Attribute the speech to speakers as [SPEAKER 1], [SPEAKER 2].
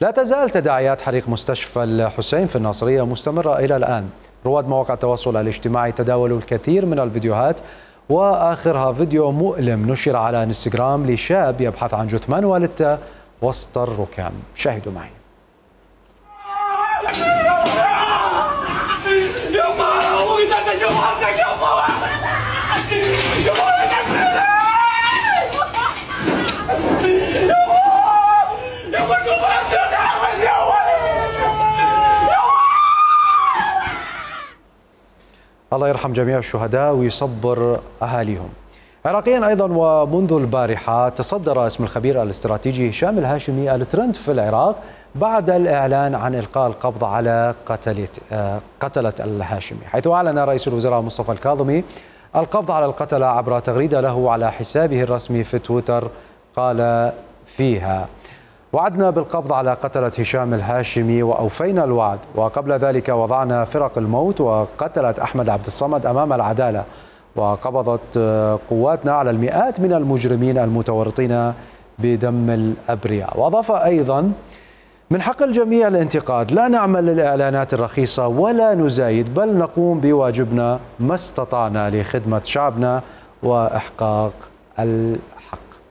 [SPEAKER 1] لا تزال تداعيات حريق مستشفى الحسين في الناصرية مستمرة إلى الآن. رواد مواقع التواصل الاجتماعي تداولوا الكثير من الفيديوهات، وآخرها فيديو مؤلم نشر على انستغرام لشاب يبحث عن جثمان والدته وسط الركام. شاهدوا معي. الله يرحم جميع الشهداء ويصبر أهاليهم. عراقيا أيضا، ومنذ البارحة تصدر اسم الخبير الاستراتيجي هشام الهاشمي الترند في العراق بعد الإعلان عن إلقاء القبض على قتلة الهاشمي، حيث أعلن رئيس الوزراء مصطفى الكاظمي القبض على القتلة عبر تغريدة له على حسابه الرسمي في تويتر قال فيها: وعدنا بالقبض على قتلة هشام الهاشمي وأوفينا الوعد، وقبل ذلك وضعنا فرق الموت وقتلة أحمد عبد الصمد أمام العدالة، وقبضت قواتنا على المئات من المجرمين المتورطين بدم الأبرياء. وأضاف أيضا: من حق الجميع الانتقاد، لا نعمل للإعلانات الرخيصة ولا نزايد، بل نقوم بواجبنا ما استطعنا لخدمة شعبنا وإحقاق